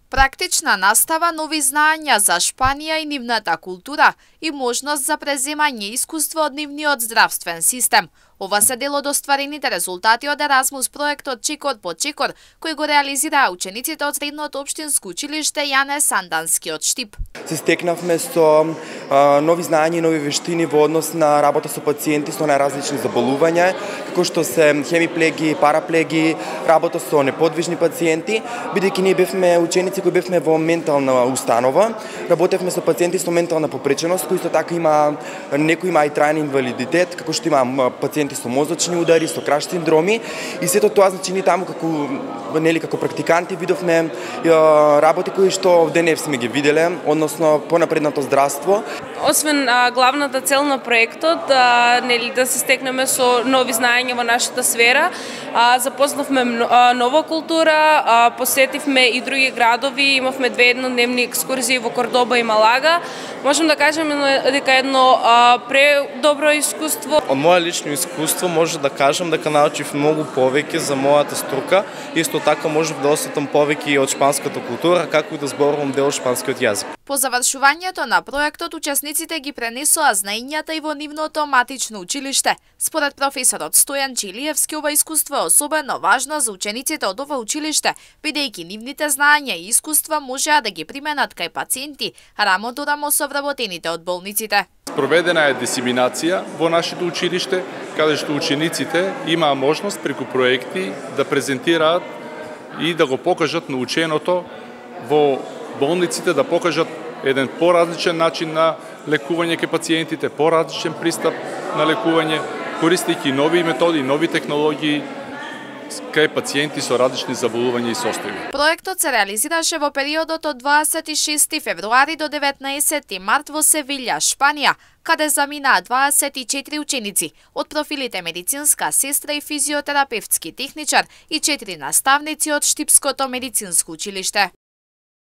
Практична настава, нови знаења за Шпанија и нивната култура и можност за преземање искуство од нивниот здравствен систем. Ова се дел од остварените резултати од Еразмус проектот Чекор по чекор, кој го реализираа учениците од Средното општинско училиште Јане Сандански од Штип. Се стекнавме со нови знаења и нови вештини во однос на работа со пациенти со најразлични заболувања, како што се хемиплеги, параплеги, работа со неподвижни пациенти, бидејќи ние бевме ученици кои бевме во ментална установа, работевме со пациенти со ментална попреченост, кои исто така некои има и траен инвалидитет, како што има пациенти со мозочни удари, со краш синдроми, и сето тоа значи ние таму како практиканти видовме работи кои што денес сме ги виделе, односно понапредното здравство. Освен главната цел на проектот, да се стекнеме со нови знаења во нашата сфера, запознавме нова култура, посетивме и други градови, имавме 2 еднодневни екскурзии во Кордоба и Малага. Можем да кажеме дека едно предобро искуство. Од моје лично искуство може да кажам дека научив многу повеќе за мојата струка. Исто така можев да осетам повеќе и од шпанската култура, како и да зборувам дел шпанскиот јазик. По завршувањето на проектот, учесниците ги пренесоа знаењата и во нивното матично училиште. Според професорот Стојан Чилиевски, ова искуство е особено важно за учениците од ова училиште, бидејќи нивните знаења и искуства можеа да ги применат кај пациенти, рамо до рамо со вработените од болниците. Проведена е дисеминација во нашето училиште, каде што учениците имаа можност преку проекти да презентираат и да го покажат наученото во болниците, да покажат еден поразличен начин на лекување кај пациентите, поразличен пристап на лекување, користејќи нови методи, нови технологии кај пациенти со различни заболувања и состојби. Проектот се реализираше во периодот од 26 февруари до 19 март во Севилја, Шпанија, каде заминаа 24 ученици од профилите медицинска сестра и физиотерапевтски техничар и 4 наставници од Штипското медицинско училиште.